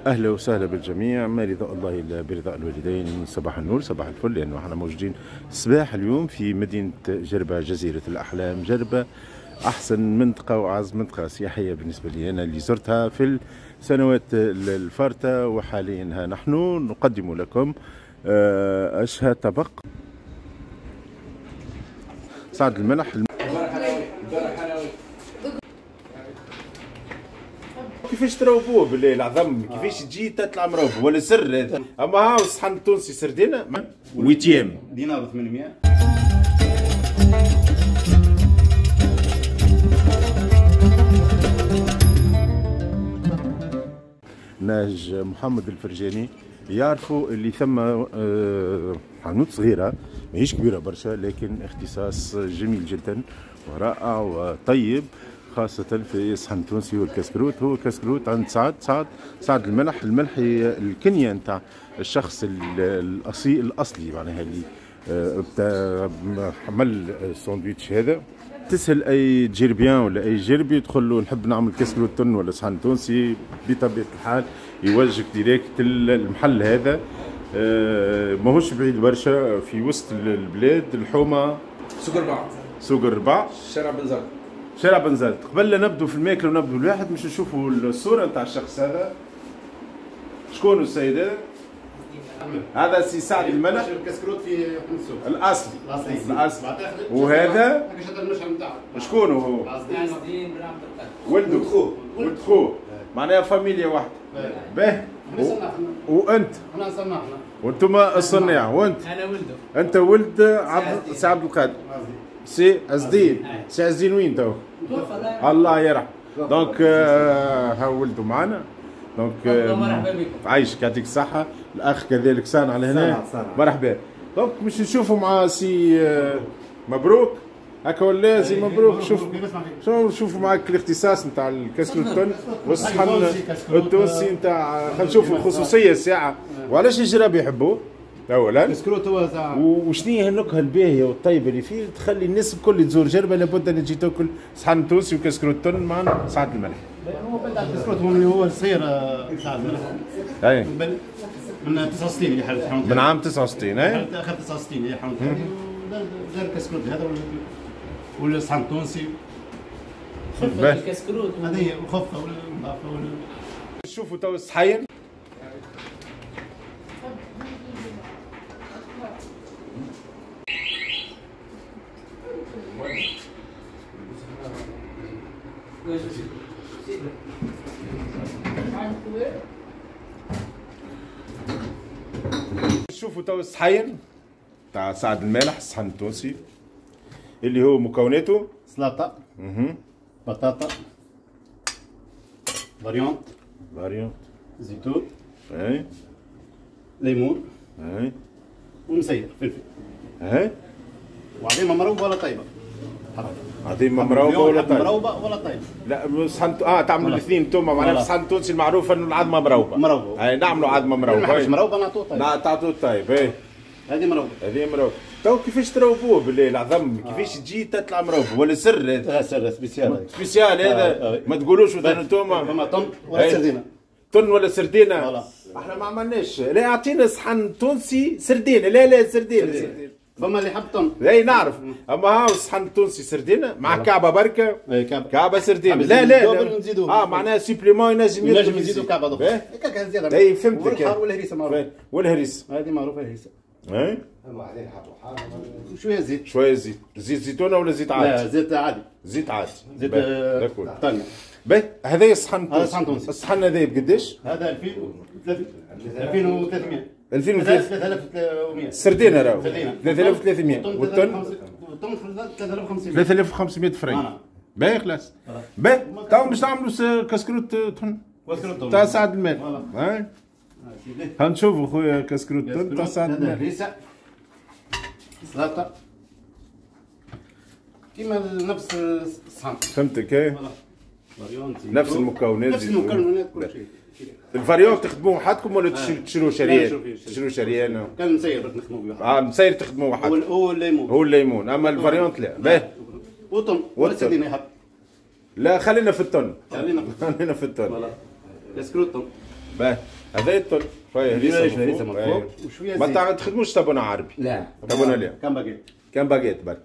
اهلا وسهلا بالجميع، ما رضاء الله الا برضاء الوالدين. صباح النور، صباح الفل، لانه احنا موجودين صباح اليوم في مدينة جربه، جزيرة الاحلام. جربه احسن منطقة واعز منطقة سياحية بالنسبة لي انا اللي زرتها في السنوات الفارطه، وحاليا نحن نقدم لكم اشهى طبق سعد الملح. كيفاش تروبوه بالله العظم، كيفاش تجي تطلع مروب ولا سر هذا؟ اما هاو الصحن التونسي سردينه ويتيام دينار 800. ناج محمد الفرجاني يعرفوا اللي ثم حانوت صغيرة ماهيش كبيرة برشا، لكن اختصاص جميل جدا ورائع وطيب، خاصة في الصحن التونسي والكسكروت. هو كسكروت عند سعد الملح. الملح هي الكنية نتاع الشخص الأصلي معناها اللي عمل الساندويتش هذا. تسأل أي Djerbian ولا أي جربي يدخل له نحب نعمل كسكروت تن ولا صحن تونسي، بطبيعة الحال يوجهك direct المحل هذا. ماهوش بعيد برشا، في وسط البلاد، الحومة سوق الرباع، سوق الرباع، شارع بنزرت، شارع بنزرت. قبل لا نبدو في الماكلة ونبدو الواحد باش نشوفوا الصورة نتاع الشخص هذا. شكون السيد هذا؟ هذا سي سعد الملح، الكسكروت في السوق الاصلي، الاصلي. وهذا شكون هو؟ ولده، خوه، ولد خوه، معناها فاميليا واحدة. باه. وانت؟ احنا صنعنا، وانتم الصناع. وانت؟ انا ولده. انت ولد سي عبد القادر، سي عز الدين. سي عز الدين وين تو؟ الله يرحم. donc ها ولده معنا. donc مرحبا بكم. عايشك، يعطيك الصحة. الأخ كذلك صانع لهنا، مرحبا. donc باش نشوفوا مع سي مبروك هكا ولا سي مبروك؟ شوف شوفوا معاك الاختصاص نتاع الكسكروت والصحن التونسي نتاع، خلينا نشوفوا الخصوصية الساعة وعلاش الجراب يحبوه اولا. الكسكروت هو تاع، وشنو هي النكهة الباهيه والطيبه اللي فيه تخلي الناس الكل تزور جربه لابد ان تجي تاكل صحن تونسي وكسكروت تن مع سعد الملح. هو بدا الكسكروت هو صغير سعد الملح. اي من 69 اللي حلت حانوت، من عام 69. اي اخر 69 هي حانوت، دار الكسكروت هذا والصحن التونسي. خفه الكسكروت هذه هي، وخفه والنظافة. شوفوا تو الصحين. شوفوا تو الصحين تاع سعد المالح، الصحن التونسي اللي هو مكوناته سلطة، بطاطا، variante، زيتون، اي، ليمون، اي، ومسير فلفل، اي، وعظيمة مروبه ولا طيبة؟ عظيمة مروبه ولا طيبة؟ مروبه ولا طيبة؟ لا صحن تعملوا الاثنين انتم معناها. في الصحن التونسي المعروف انه العظمة مروبه. مروبه، اي نعملوا عظمه مروبه. مش مروبه نعطوه طيب. تعطوه طيب. اي هذه مروبه، هذه مروبه. تو كيفاش تروبوه بالله العظم، كيفاش تجي تطلع مروبه ولا سر هذا؟ سر spécial، spécial هذا. ما تقولوش مثلا انتم فما طن ولا سردينه. طن ولا سردينه؟ احنا ما عملناش. لا اعطينا صحن تونسي سردينه. لا لا سردينه، فما اللي حب طن. اي نعرف، اما هاو الصحن التونسي سردينه مع كعبه بركة، كعبه سردينه. لا لا معناها supplément ينجم يزيدوا كعبه اخرى هكاك زيادة. اي فهمتك. والحار والهريسه معروفة. والهريسه هذه معروفة الهريسه. اي شوية زيت، شوية زيت. زيت زيتونه ولا زيت عادي؟ لا زيت عادي، زيت عادي، زيت طنجة. باهي. هذا الصحن التونسي، هذا الصحن التونسي. الصحن هذا بقداش؟ هذا 2300. 2300. السردينه راهو 3300، والطن 3500. 3500 فرنك. باهي خلاص. باهي تو باش نعملوا كسكروت تن تاع سعد المال. هاي هنشوفوا خويا كسكروت تن تاع سعد المال. هريسه، سلطة كيما نفس الصحن. فهمتك. اي نفس المكونات، نفس المكونات كل شيء. ال variante تخدموه وحدكم ولا تشرو شريان؟ تشرو شريان. كان مسير نخدموه بوحدنا. مسير تخدموه وحدكم. هو الليمون، هو الليمون، اما ال variante لا. باهي. وطن ولا سردينه يحب. لا خلينا في التن، خلينا في التن. voilà كسكروت. باهي هذا التن شوية هريسه من فوق وشوية زيت. ما تخدموش طابونه عربي؟ لا طابونه لا، كان باجيت، كان باجيت برك.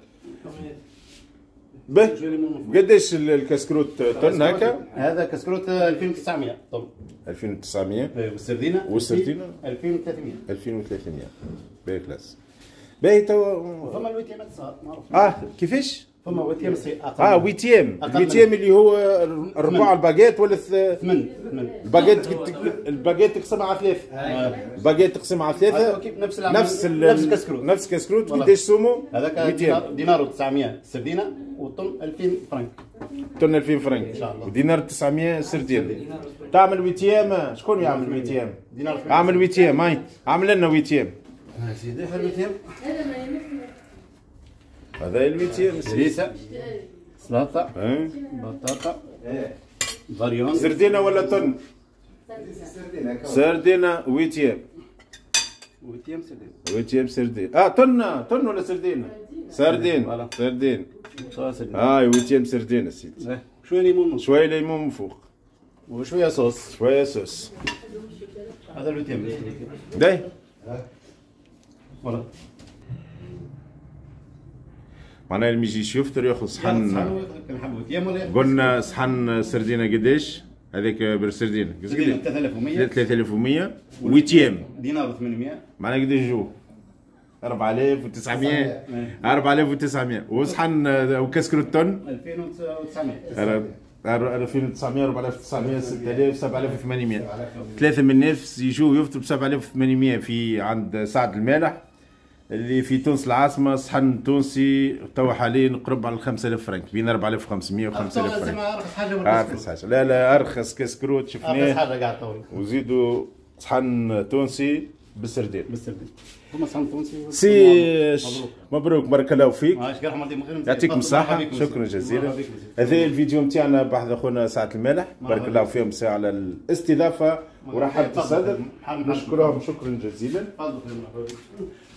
باهي قداش الكسكروت تن هكا؟ هذا كسكروت 2900 طن. 2900. والسردينه؟ والسردينه 2300. 2300. باهي classe. باهي توا فما ال huitième صار معروف. كيفاش؟ فما huitième c'est اقل. huitième، ال huitième اللي هو الربع الباجيت ولا ثمن ال baguette، ال baguette تقسمها على ثلاثة. الباجيت تقسمها على ثلاثة. نفس نفس الكسكروت. نفس الكسكروت. قداش سومو؟ هذاك دينار و900 السردينة والطن 2000 فرنك. طن 2000 فرنك ان شاء الله. ودينار 900 سردينة. تعمل huitième؟ شكون يعمل huitième؟ دينار. اعمل huitième، هاي اعمل لنا huitième. سيدي huitième. هذا ال huitième. هريسه، سلطة، بطاطا، variante. سردينه ولا تن؟ سردينه huitième. huitième سردينه. huitième سردين. تن تن ولا سردينه؟ سردين. سردين. هاي huitième سردينه سيدي. شوية ليمون، شوية ليمون من فوق وشوية صوص. شوية صوص. هذا ال huitième. داي voilà. معناها اللي يجيش يفطر ياخذ صحن. قلنا صحن سردينه قداش؟ هذاك بالسردينه 3100. 3100 huitième دينار 800. معناها قداش جو؟ 4900. 4900. وصحن وكسكروت تن 2900. 2900 4900 6000 7800. ثلاثة من الناس يجوا يفطروا ب 7800 في عند سعد المالح اللي في تونس العاصمة. صحن تونسي توا حاليا قرب على 5000 فرنك، بين 4500 و 5000 فرنك. ارخص حاجة. ارخص حاجة. لا لا ارخص كسكروت شفناه. ارخص حاجة قاعد توا. وزيدوا صحن تونسي بالسردين. بالسردين. هما صحن تونسي. سي مبروك، بارك الله فيك. يعطيكم الصحة، شكرا جزيلا. هذا الفيديو نتاعنا بحذا خونا سعد المالح، بارك الله فيهم ساعة على الاستضافة ورحبة الصدر، نشكرهم شكرا جزيلا.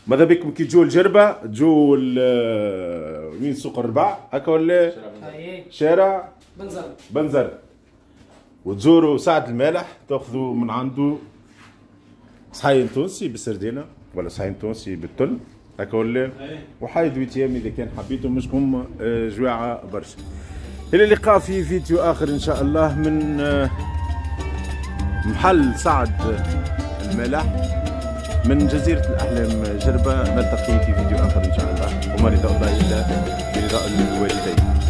ماذا بكم كي تجوا الجربة تجوا وين سوق الربع هكا ولا شارع بنزرت. بنزرت، وتزوروا سعد المالح تاخذوا من عنده صحين تونسي بالسردينة ولا صحين تونسي بالتل هكا ولا، وحايد huitième اذا كان حبيتوا، مشكم جواعة برشا. الى اللقاء في فيديو اخر ان شاء الله من محل سعد المالح من جزيرة الأحلام جربة. نلتقي في فيديو آخر إن شاء الله، وما رضاء الله إلا برضاء الوالدين.